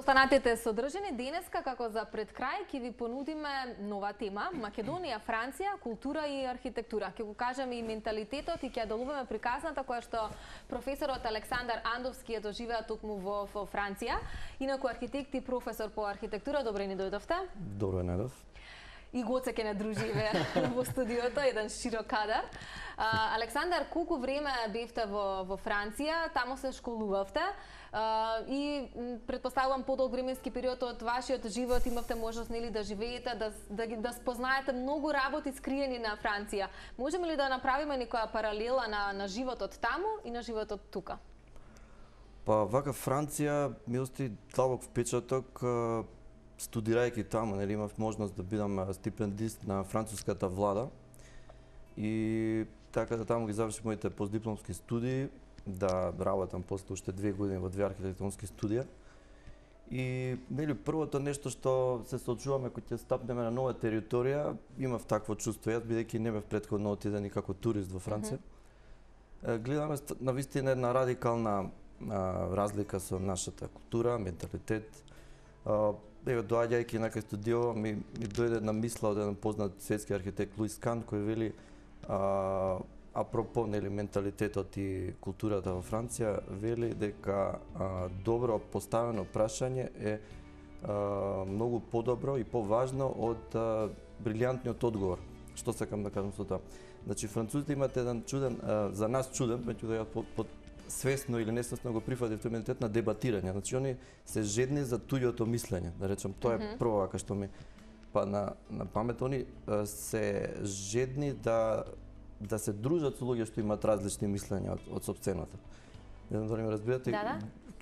Останатите содржини денеска како за пред крај ќе ви понудиме нова тема Македонија, Франција, култура и архитектура. Ќе го кажеме и менталитетот и ќе ја делуваме приказната која што професорот Александар Андовски ја доживеа токму во Франција. Инаку архитект и професор по архитектура, добре ни дојдовте. Добро најдов. И Гоце ќе не дружиме во студиото, еден широк кадар. Александар, колку време бевте во Франција, таму се школувавте и предпоставувам подолг временски период од вашиот живот имавте можност нели да живеете, да спознаете многу работи скриени на Франција. Можеме ли да направиме некоја паралела на животот таму и на животот тука? Па вака Франција ми остави длабок впечаток. Студирајќи таму, нели имав можност да бидам стипендист на француската влада и така да таму ги завршив моите постдипломски студии, да работам после уште 2 години во 2 архитектонски студија. И нели првото нешто што се соочуваме кога ќе стапнеме на нова територија, имав такво чувство јас бидејќи не бев претходно отиден и како турист во Франција. Гледаме навистина една радикална разлика со нашата култура, менталитет. Доаѓајќи на кај студио ми дојде една мисла од еден познат светски архитект Луис Кан кој вели апропо нели менталитетот и културата во Франција, вели дека добро поставено прашање е многу подобро и поважно од брилјантниот одговор. Што сакам да кажам со тоа? Значи французите имаат еден чуден, за нас чуден, меѓутоа ја свесно или несвесно го прифатив тој менталитет на дебатирање. Значи они се жедни за туѓото мислење, да речем, тоа е прво вака што ми падна на памет. Они се жедни да се дружат со луѓе што имаат различни мислења од сопственото. Не знам дали ме разбирате.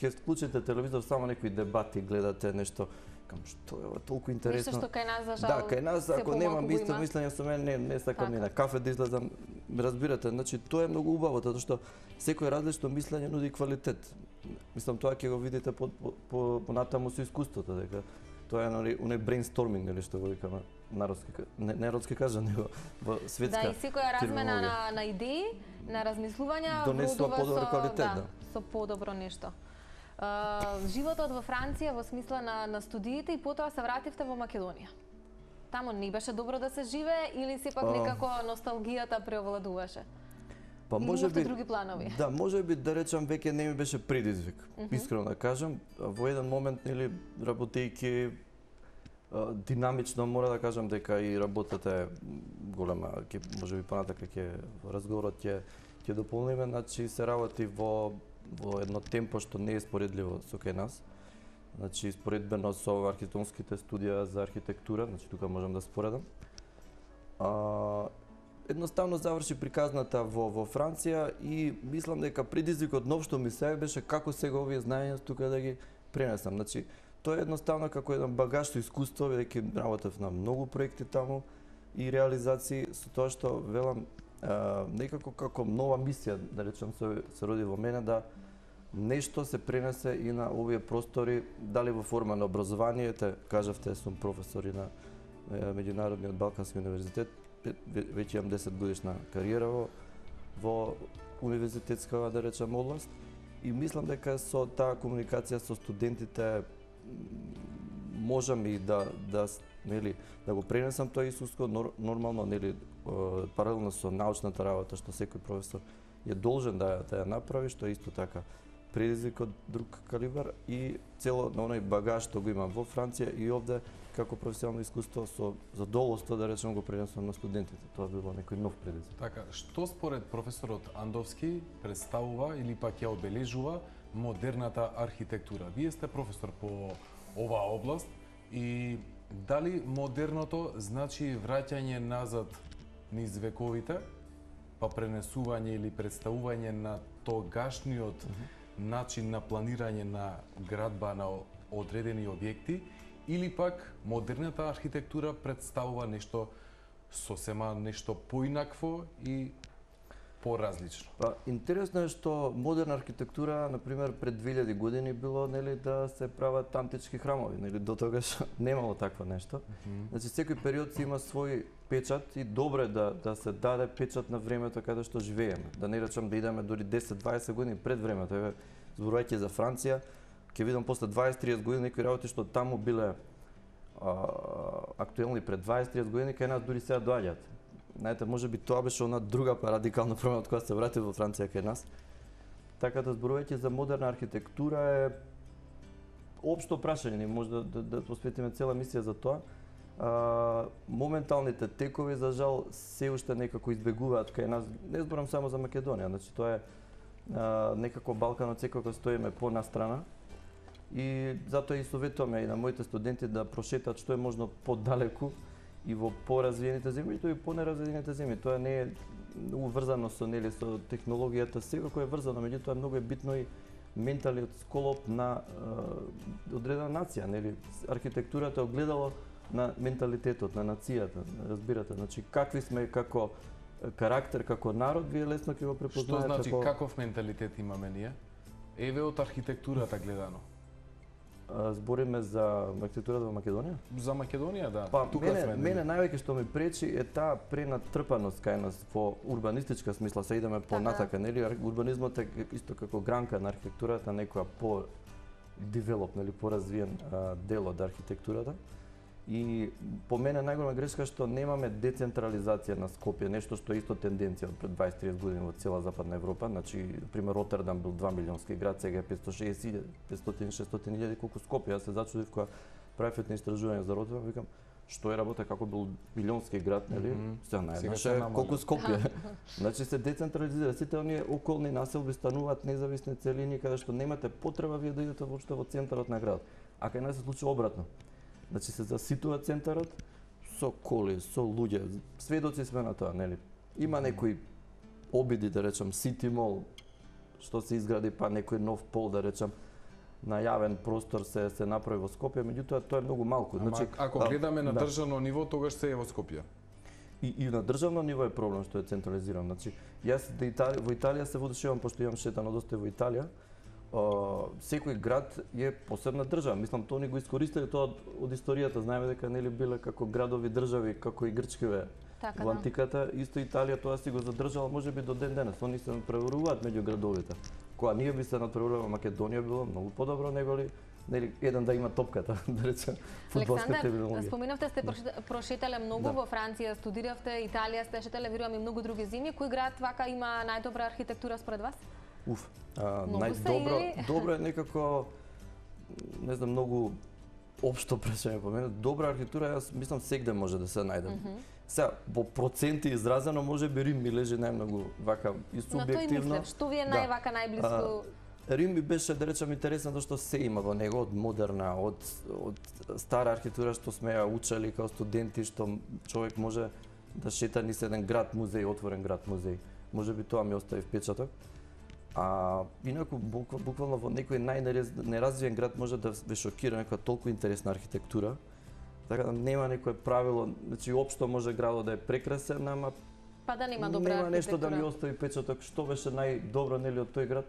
Ќе вклучите телевизор, само некои дебати гледате, нешто што е толку интересно. Нешто што кај нас за жал. Да, кај нас ако немам исто мислење со мене, не сакам ни на кафе да излезам. Разбирате, значи тоа е многу убаво, затоа што секој различно мислење нуди квалитет. Мислам тоа ќе го видите понатаму со искуството, дека тоа е оној брейнсторминг или што го викаме народски кажа, него во светска. Да, и секоја размена на идеи, на размислувања донесува подобар квалитет, со подобро нешто. Животот во Франција во смисла на студиите и потоа се вративте во Македонија. Тамо не беше добро да се живее или сепак некако носталгијата преовладуваше? Па можеби други планови. Да, можеби да речам веќе не ми беше предизвик. Искрено да кажам, во еден момент нели работејќи динамично мора да кажам дека и работата е голема, ќе можеби понатака ќе разговорот ќе дополниме, значи се работи во едно темпо што не е споредливо со кај нас. Значи споредбено со архитектонските студија за архитектура, значи тука можам да споредам. Едноставно заврши приказната во Франција и мислам дека предизвикот нов што ми се беше како сега овие знаења тука да ги пренесам. Значи тоа е едноставно како еден багаж со искуство, бидејќи работев на многу проекти таму и реализации, со тоа што велам некако како нова мисија, да речем, се роди во мене да нешто се пренесе и на овие простори, дали во форма на образование, кажавте, сум професор и на Меѓународниот Балкански универзитет, веќе имам 10 годишна кариера во универзитетска, да речем, област и мислам дека со таа комуникација со студентите можам и да го пренесам тоа искуство нормално, нели, паралелно со научната работа што секој професор е должен да ја направи, што е исто така предизвик од друг калибар и цело на оној багаж што го имам во Франција и овде како професионално искуство со задоволство да речем го пренесам на студентите. Тоа било некој нов предизвик. Така, што според професорот Андовски представува или пак ја обележува модерната архитектура? Вие сте професор по оваа област и дали модерното значи враќање назад низ вековите, па пренесување или представување на тогашниот начин на планирање на градба на одредени објекти, или пак модерната архитектура представува нешто сосема нешто поинакво и поразлично? Па интересно е што модерна архитектура, на пример, пред 2000 години било нели да се прават антички храмови, нели до тогаш немало такво нешто. Значи секој период си има свој печат и добре да се даде печат на времето каде што живееме. Да не речам да идеме дури 10-20 години пред времето. Еве зборувајќи за Франција, ќе видам после 20-30 години некои работи што таму биле актуелни пред 20-30 години, кај нас дури сега доаѓаат. Знаете, може би тоа беше она друга радикална промена од која се врати во Франција кај нас. Така да зборувајќи за модерна архитектура е општо прашање, може да посветиме цела мисија за тоа. Моменталните текови за жал се уште некако избегуваат кај нас. Не зборам само за Македонија, значи тоа е некако Балканот секако стоиме понастрана. И затоа и советуваме и на моите студенти да прошетат што е можно подалеку и во поразвиените земји, и понеразвиените земји. Тоа не е уврзано со технологијата, секако е врзано, меѓутоа многу е битно и менталниот сколоп на одредена нација, нели? Архитектурата е огледало на менталитетот на нацијата, разбирате? Значи какви сме како карактер, како народ, вие лесно ќе го препознаете. Што значи каков менталитет имаме ние? Еве од архитектурата гледано. Збориме за архитектурата во Македонија? За Македонија, да. Па, мене највеќе што ми пречи е таа пренатрпаност кај нас во урбанистичка смисла, се идеме понатака, нели? Урбанизмот е исто како гранка на архитектурата, некоја по-девелоп, нели, поразвиен дел од архитектурата. И по мене најголема грешка што немаме децентрализација на Скопје, нешто што е исто тенденција од пред 20-30 години во цела Западна Европа. Значи, например, Ротердам бил 2 милионски град, сега е 560.000, 500-600.000, колку Скопје. Јас се зачудив кога правев едно истражување за Ротердам, викам, што е работа како бил милионски град, нели? Сега најднаш колку Скопје. Значи се децентрализира, сите оние околни населби стануваат независни целини каде што немате потреба вие да идете воопшто во центарот на градот. А кај нас се случува обратно. Значи се заситува центарот со коли, со луѓе. Сведоци сме на тоа, нели? Има некои обиди, да речам, City Mall, што се изгради, па некој нов пол, да речам, на јавен простор се направи во Скопје, меѓутоа тоа е многу малку. Значи, ако гледаме на државно ниво, тогаш се е во Скопје. И на државно ниво е проблем што е централизирано. Значи, јас во Италија се водушевам, пошто имам шетано доста во Италија. Секој град е посебна држава. Мислам, тоа ни го искористиле тоа од историјата. Знаеме дека нели биле како градови држави, како и грчкиве во антиката. Исто Италија тоа си го задржала можеби до ден денес. Они се надпреваруваат меѓу градовите. Кога ние би се надпреварувале во Македонија било многу подобро неголи нели еден да има топката, да речем, фудбалска терминологија. Александар, споминавте сте прошетале многу во Франција, студиравте, Италија сте шетале, верувам и многу други земји. Кој град вака има најдобра архитектура според вас? Добро е некако, не знам, многу општо прашање по мене. Добра архитектура, јас мислам сегде може да се најде. Сега, во проценти изразено, може би Рим ми лежи најмногу вака и субјективно. На тој мислев, што ви е највака најблиску? Рим ми беше, да речам, интересно што се има во него, од модерна, од стара архитектура што сме ја учели као студенти, што човек може да шета низ еден град музеј, отворен град музеј. Може би тоа ми остави впечаток. Инаку, буквално во некој најнеразвиен град може да ве шокира некоја толку интересна архитектура. Така да нема некое правило, значи општо може градот да е прекрасен, ама па да нема добра нема нешто архитектура. да ми остави впечаток што беше најдобро нели од тој град.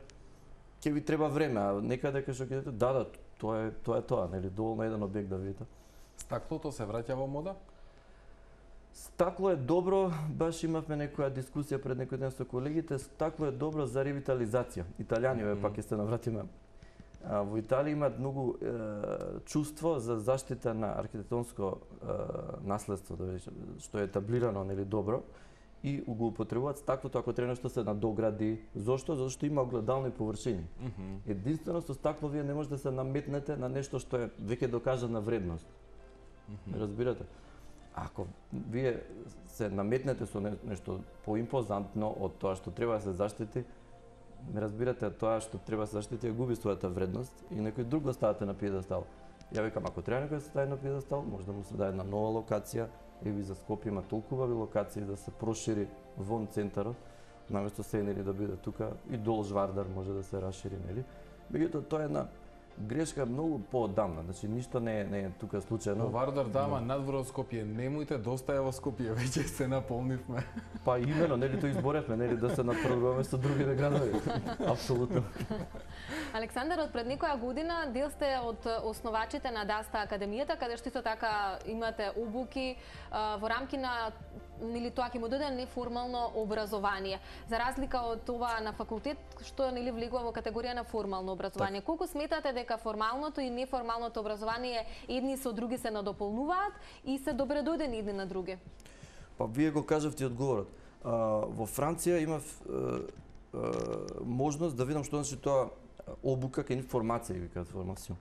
Ќе ви треба време, а некаде кај што ќе идете, да, тоа е тоа, нели, доволно еден објект да видите. Стаклото се враќа во мода? Стакло е добро, баш имавме некоја дискусија пред некој ден со колегите, стакло е добро за ревитализација. Италијани, пак ќе се навратиме. Во Италија имаат многу чувство за заштита на архитектонско наследство, да речем, што е етаблирано нели добро и го употребуваат стаклото ако треба нешто се надогради. Зошто? Затоа што има огледални површини. Единствено со стакло вие не можете да се наметнете на нешто што е веќе докажана вредност. Разбирате? Ако вие се наметнете со нешто поимпозантно од тоа што треба да се заштити, ме разбирате, тоа што треба да се заштити губи својата вредност и некој друг го ставате на пиедестал. Ја викам, ако треба некој да се стави на пиедестал, може да му се даде една нова локација, еви за Скопје има толку убави локации да се прошири вон центарот, наместо се нели да биде тука и долж Вардар може да се расшири, нели? Меѓутоа тоа е една грешка многу поодамна, значи ништо не е тука случајно. Во Вардар дама надвор од Скопје, немојте доста е во Скопје, веќе се наполнивме. Па имено, нели тоа изборевме, нели да се надпреваруваме со другите градови. Апсолутно. Александар, од пред некоја година дел сте од основачите на Даста Академијата, каде што исто така имате обуки во рамки на нели тоа ќе му даде неформално образование. За разлика од това на факултет што нели влегува во категорија на формално образование. Колку сметате дека формалното и неформалното образование едни со други се надополнуваат и се добредодени едни на други? Па вие го кажавте одговорот. Во Франција имав можност да видам што значи тоа обука кај информација, викаат формацион.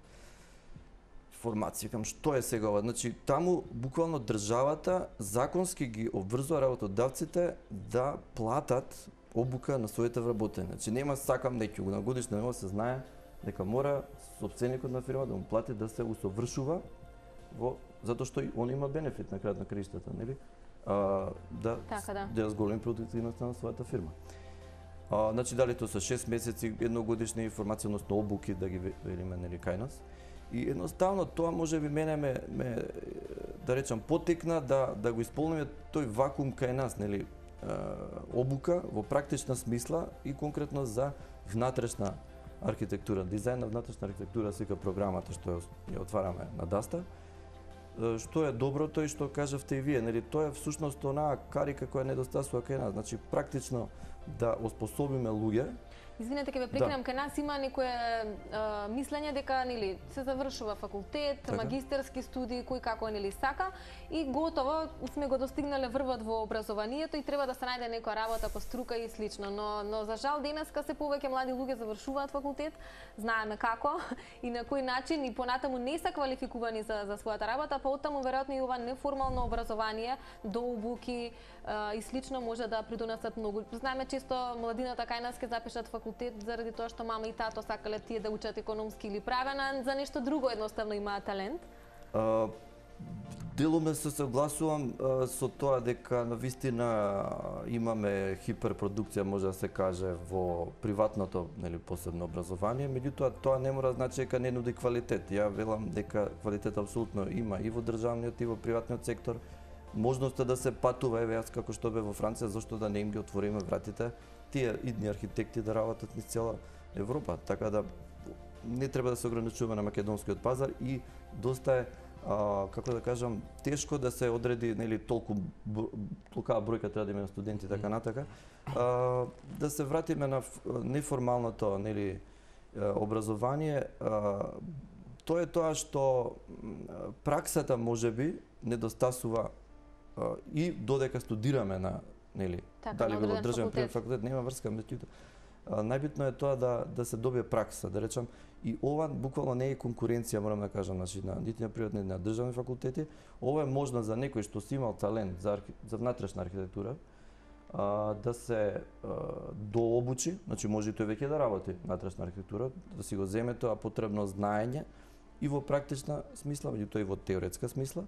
Информација, кам што е сега ова? Значи, таму буквално државата законски ги обврзува работодавците да платат обука на своите вработени. Значи, нема сакам некој на годишна нема се знае дека мора сопственикот на фирма да му плати да се усовршува затоа што он има бенефит на крајот на краиштата, нели? Да зголеми продуктивноста на својата фирма. Значи, дали тоа се 6 месеци, едногодишни информациони, односно обуки да ги велиме нели кај нас. И едноставно тоа може би мене ме да речам потекна да го исполниме тој вакуум кај нас, нели, обука во практична смисла и конкретно за внатрешна архитектура, дизајн на внатрешна архитектура, сека програмата што ја отвараме на Даста. Што е доброто и што кажавте и вие, нели, тоа е всушност онаа карика која недостасува кај нас, значи практично да оспособиме луѓе. Извинете, ќе ве прекинам, кај нас има некое мислење дека нели се завршува факултет, магистерски студии, кој како нели сака и готово сме го достигнале врвот во образованието и треба да се најде некоја работа по струка и слично, но за жал денеска се повеќе млади луѓе завршуваат факултет, знаеме како и на кој начин и понатаму не се квалификувани за својата работа, па оттаму веројатно и ова неформално образование до обуки и слично може да придонесат многу. Знаеме често младината кај нас ќе запишат факултет заради тоа што мама и тато сакале тие да учат економски или правен, за нешто друго едноставно имаат талент. Делуме се согласувам со тоа дека навистина имаме хиперпродукција, може да се каже, во приватното, нели, посебно образование, меѓутоа тоа не мора да значи дека не нуди квалитет. Ја велам дека квалитет апсолутно има и во државниот и во приватниот сектор. Можноста да се патува, еве јас како што бе во Франција, зашто да не им ги отвориме вратите тие идни архитекти да работат низ цела Европа, така да не треба да се ограничуваме на македонскиот пазар и доста е како да кажам, тешко да се одреди, нели, толку бројка треба да има студенти така натака. Да се вратиме на неформалното, нели, образование, тоа е тоа што праксата можеби недостасува и додека студираме на, нели, дали во државен факултет нема врска, меѓутоа најбитно е тоа да се добие пракса, да речам, и ова буквално не е конкуренција, морам да кажам, значи нити на приватни, на државни факултети. Ова е можно за некој што си имал талент за внатрешна архитектура да се дообучи, значи може и тој веќе да работи внатрешна архитектура, да си го земе тоа потребно знаење и во практична смисла, меѓутоа и во теоретска смисла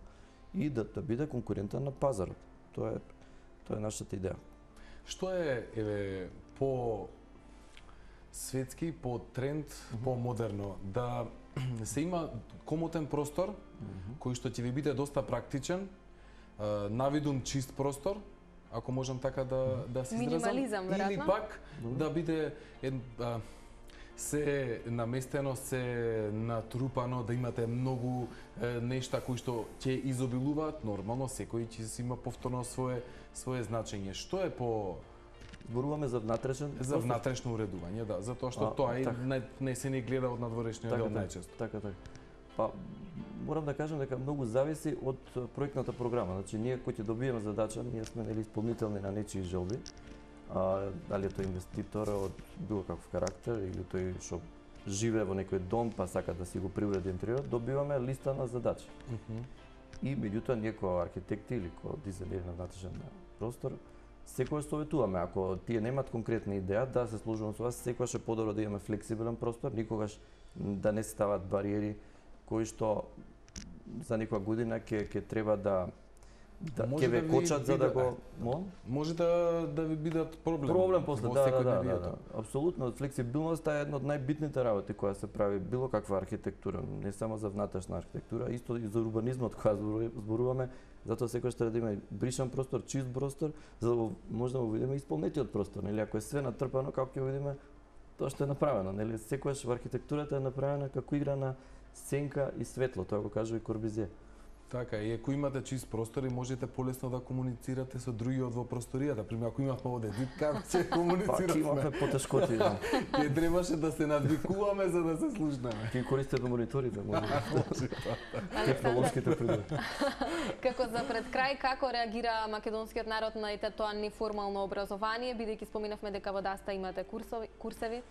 и да биде конкурентен на пазарот. Тоа е нашата идеја. Што е по светски, по тренд, по модерно, да се има комотен простор кој што ќе ви биде доста практичен, навидум чист простор, ако можам така да се изразам, минимализам, веројатно, или пак да биде се наместено, се натрупано, да имате многу нешта кои што ќе изобилуваат, нормално секој ќе си има повторно свое значење. Што е по зборуваме за внатрешен за внатрешно уредување, да, затоа што тоа не се не гледа од надворешниот дел најчесто. Така. Па морам да кажам дека многу зависи од проектната програма. Значи ние кои ќе добиеме задача, ние сме нели исполнителни на нечии желби. Дали е тој инвеститор од било каков карактер или тој што живее во некој дом па сака да си го приуреди интериорот, добиваме листа на задачи. И меѓутоа ние како архитекти или како дизајнери на внатрешен простор секогаш советуваме, ако тие немаат конкретна идеја, да се служуваме со вас, секогаш е подобро да имаме флексибилен простор, никогаш да не стават бариери кои што за некоја година ќе треба да ќе ве кочат за да го може да ви бидат проблем после, да. Апсолутно, флексибилноста е една од најбитните работи која се прави било каква архитектура, не само за внатрешна архитектура, исто и за урбанизмот која зборуваме. Затоа секогаш треба да има бришан простор, чист простор, за да може да го видиме исполнетиот простор, нели, ако е све натрпано, како ќе видиме тоа што е направено, нели, секогаш во архитектурата е направена како игра на сенка и светло, тоа го кажува и Корбизие. Така, и ако имате чист простор и можете полесно да комуницирате со другиот во просторијата. Пример, ако имавме овде дитка, ќе Пак комуницираме. имавме потешкоти, да. Ќе требаше да се надвикуваме за да се слушнеме. Ки користите мониторите, може. Александар, Технолошките придоби. како за пред крај, како реагира македонскиот народ на тоа неформално образование, бидејќи споминавме дека во Даста имате курсеви?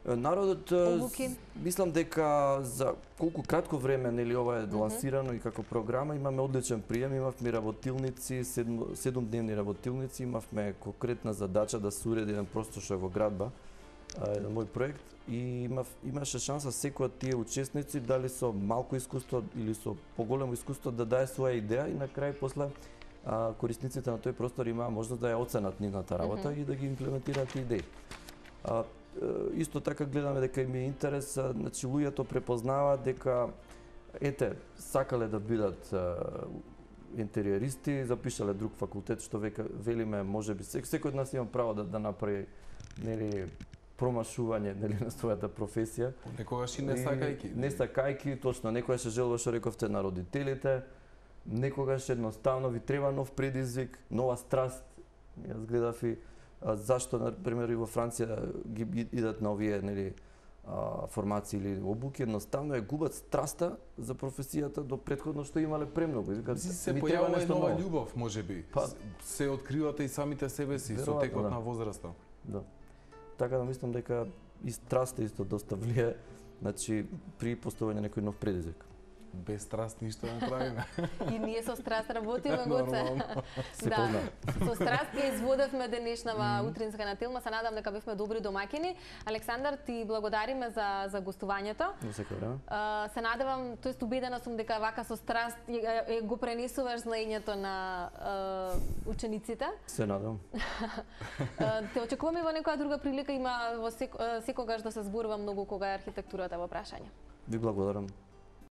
Народот, Обуки. мислам дека за колку кратко време нели ова е лансирано и како програма, имаме одличен прием, имавме работилници, 7-дневни работилници, имавме конкретна задача да се уреди еден простор што е во градба, еден мој проект, и имаше шанса секој од тие учесници, дали со малку искуство или со поголемо искуство, да даде своја идеја и на крај после корисниците на тој простор имаа можност да ја оценат нивната работа и да ги имплементираат тие идеи. Исто така гледаме дека им е интерес, значи луѓето препознаваат дека ете сакале да бидат интериористи, запишале друг факултет што велиме можеби секој од нас има право да направи нели промашување нели на својата професија. Некогаш и не сакајки. Не сакајки, точно, некогаш се желува што рековте на родителите, некогаш едноставно ви треба нов предизвик, нова страст. Јас гледав и зашто, например, и во Франција ги идат на овие нели формации или обуки, едноставно ја губат страста за професијата до претходно што имале премногу. Се појавува и нова љубов, можеби. Се откривате и самите себе си со текот на возраста. Да. Така да мислам дека и страста исто доста влие, значи при поставување некој нов предизвик. Без страст ништо не правиме. И ние со страст работиме, Гоце. Се Да, позна. со страст ја изводевме денешнава утринска натилма, се надам дека бевме добри домаќини. Александар, ти благодариме за гостувањето. Во секој време. Се надевам, тоест убедена сум дека вака со страст го пренесуваш знаењето на учениците. Се надам. Те очекуваме во некоја друга прилика, има во секогаш да се зборува многу кога е архитектурата во прашање. Ви благодарам.